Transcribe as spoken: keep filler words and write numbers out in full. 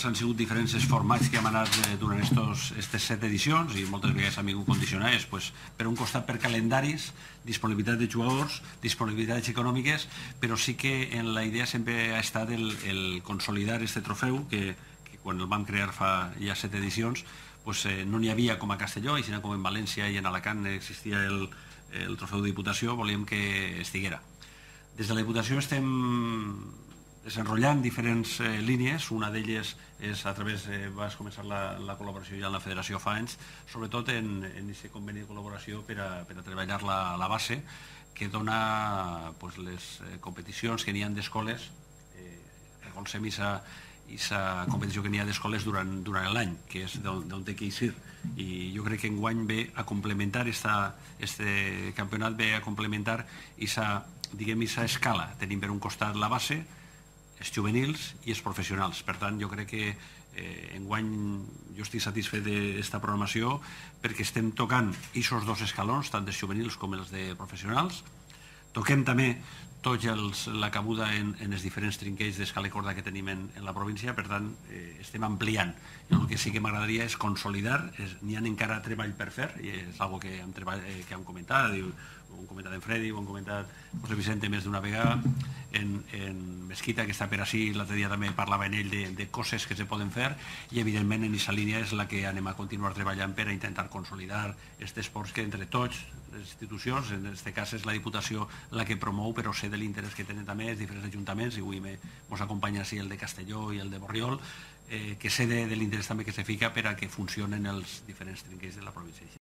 Han sigut diferents els formats que hem anat durant aquestes set edicions i moltes vegades han vingut condicionats per un costat per calendaris, disponibilitat de jugadors, disponibilitats econòmiques, però sí que en la idea sempre ha estat el consolidar aquest trofeu que quan el vam crear fa ja set edicions no n'hi havia com a Castelló i sinó com en València i en Alacant existia el trofeu de Diputació, volíem que estiguera. Des de la Diputació estem desenrotllant diferents línies, una d'elles és a través, vas començar la col·laboració ja amb la Federació fa anys, sobretot en aquest conveni de col·laboració per a treballar la base que dona les competicions que n'hi ha d'escoles, recolzem aquesta competició que n'hi ha d'escoles durant l'any, que és d'on té que eixir. I jo crec que enguany ve a complementar, aquest campionat ve a complementar aquesta escala. Tenim per un costat la base, els juvenils i els professionals. Per tant, jo crec que enguany jo estic satisfet d'esta programació perquè estem tocant aquests dos escalons, tant dels juvenils com els de professionals. Toquem també tota la cabuda en els diferents trinquells d'escala i corda que tenim en la província, per tant, estem ampliant. El que sí que m'agradaria és consolidar, n'hi ha encara treball per fer, i és una cosa que hem comentat, ho hem comentat en Freddy, ho hem comentat José Vicente més d'una vegada, en Mesquita, que està per ací, l'altre dia també parlava en ell de coses que se poden fer, i evidentment en aquesta línia és la que anem a continuar treballant per a intentar consolidar aquests esports que entre tots, les institucions, en aquest cas és la Diputació la que promou, però sé de l'interès que tenen també els diferents ajuntaments, i avui ens acompanya així el de Castelló i el de Borriol, que sé de l'interès també que se fica per a que funcionen els diferents trinquells de la província.